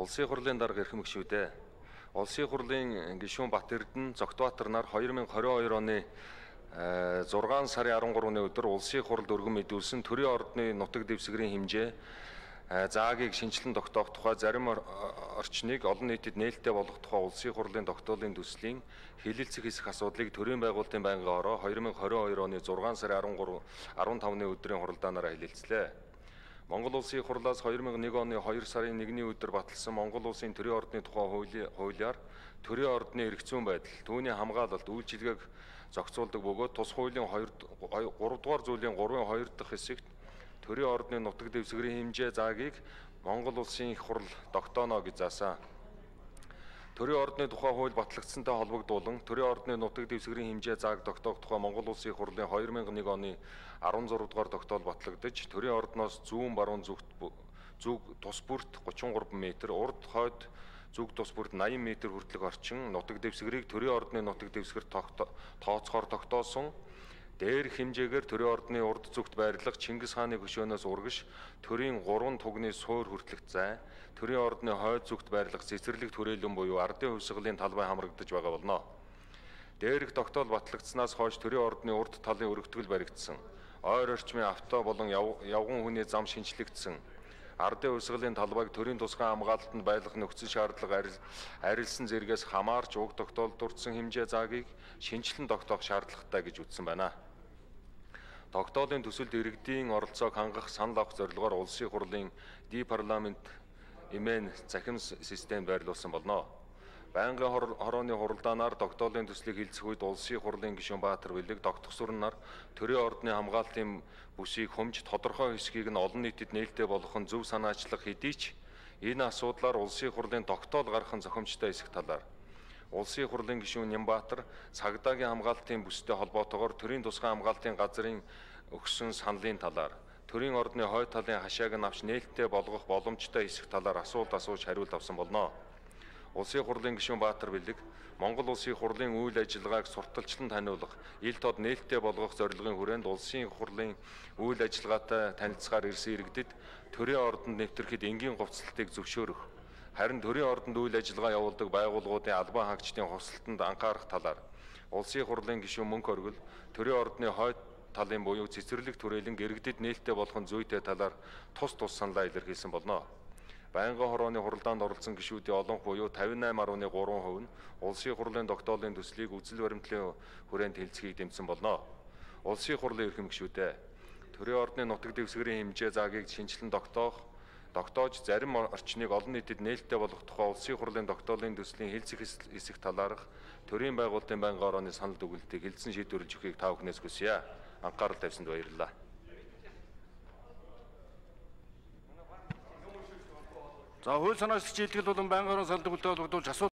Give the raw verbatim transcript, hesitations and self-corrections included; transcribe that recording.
Улсын хурлын дарга эрхэм гишүүдээ. Улсын хурлын гишүүн Бат Эрдэнэ, Зогтбаатар нар две тысячи двадцать two оны зургаан сарын арван гурваны өдөр улсын хуралд өргөн мэдүүлсэн төрийн ордны нутаг дэвсгэрийн хэмжээ заагийг шинжилэн тогтоох тухай зарим орчныг олон нийтэд нээлттэй болгох тухай улсын хурлын тогтоолын төслийн хэлэлцэх хэсэх асуудлыг төрийн байгуулалтын байнгын ороо две тысячи двадцать two оны зургаан сарын арван гурав арван тавны өдрийн хуралдаанаараа хэлэлцлээ. Монгол улсын хурлаас две тысячи one оны two сарын первый өдөр баталсан Монгол улсын төрийн ордны тухай хуулиар төрийн ордны эрх зүйн байдал, түүний хамгаалалт, үйлчилгээг зохицуулдаг бөгөөд тус хуулийн three дугаар зүйлийн three two дахь хэсэгт төрийн ордны нутаг дэвсгэрийн хэмжээ заагийг Монгол улсын их хурл тогтооно гэж заасан. Төрийн ордны тухай хууль батлагдсантай холбогдуулан төрийн ордны нутаг дэвсгэрийн хэмжээ зааг тогтоох тухай Монгол улсын хурлын two thousand one оны sixteen дугаар тогтоол батлагдаж төрийн ордноос зүүн баруун зүгт зүг тус бүрт thirty-three м, урд хойд зүг тус бүрт eighty м хүртэлх орчин нутаг дэвсгэрийг төрийн ордны нутаг дэвсгэр тооцохоор тогтоосон. Дээрх хэмжээгээр төрийн ордны урд зүгт байрлах Чингис хааны хөшөөнөөс урагш төрийн гурван тугны суур хүртэлх зай, төрийн ордны хойд зүгт байрлах цэцэрлэг түрээлэн буюу ардын хувьсгалын талбай хамрагдаж байгаа болно. Дээрх тогтоол батлагдсанаас хойш төрийн ордны урд талын өргөтгөл баригдсан. Ойр орчмын авто болон явган хүний зам шинжлэгдсэн. Ардын хувьсгалын талбайг төрийн тусгай хамгаалалтанд байлгах нөхцөл шаардлага арилсан зэрэгээс хамаарч уг тогтоолд дурдсан хэмжээ заагийг шинжилэн тогтоох шаардлагатай гэж үзсэн байна. Тогтоолын төсөлд иргэдийн оролцоог хангах санал авах зорилгоор улсын хурлын D-парламент эмээн захим систем байрлуулсан болно. Байнгын хорооны хуралдаанаар тогтоолын төслийг хэлцэх үед улсын хурлын гишүүн Баатар Бэлэг, Догтгосүрэн нар төрийн ордны хамгаалтын бүсийг хүмж тодорхой хэсгийг нь олон нийтэд нээлттэй болгох нь зөв санаачлах хэдий ч энэ асуудлаар улсын хурлын тогтоол гаргах нь зохимжтой эсэх талаар улсын хурлын гишүүн Нямбаатар цагдаагийн хамгаалтын бүстэй холбоотойгоор төрийн тусгай хамгаалтын газрын өгсөн саналын талаар төрийн ордны хойд талын хашааг нь авч нээлттэй болгох боломжтой эсэх талаар асуулт асууж хариулт авсан болно. Улсын хурлын гишүүн Баатар Бэлэг Монгол улсын хурлын үйл ажиллагааг сурталчлан таниулах, ил тод нээлттэй болгох зорилгын хүрээнд улсын хурлын үйл ажиллагаатай танилцахаар ирсэн иргэдэд төрийн ордонд нэвтрэхэд энгийн хувцлалтыг зөвшөөрөх, харин төрийн ордонд үйл ажиллагаа явуулдаг байгууллагуудын албан хаагчдын хувцлалтанд анхаарах талаар улсын хурлын гишүүн Мөнх Оргил төрийн ордны хойд талын буюу цэцэрлэг түрээлэн иргэдэд нээлттэй болгох зүйтэй талаар тус тус саналаа илэрхийлсэн болно. Байнгын хорооны хуралдаанд оролцсон гишүүдийн олонх буюу fifty-eight point three percent нь улсын хурлын тогтоолын төслийг үзэл баримтлалын хүрээнд хэлцэхийг дэмжсэн болно. Улсын хурлын эрхэм гишүүдээ төрийн ордны нутаг дэвсгэрийн хэмжээ заагийг шинжилэн тогтоох, тогтоож зарим орчныг олон нийтэд нээлттэй болгох тухай улсын хурлын тогтоолын төслийн хэлцэх хэсэх талаарх төрийн байгуулалтын байнгын орооны санал дүгнэлтийг хэлсэн шийдвэрлэж өгөхийг та бүхнээс хүсье. Анхаарал тавьсанд баярлалаа. За хууль санаачлагч шийдэл болон байнгын орон санал дүгнэлтэд холбогдуулж асуулт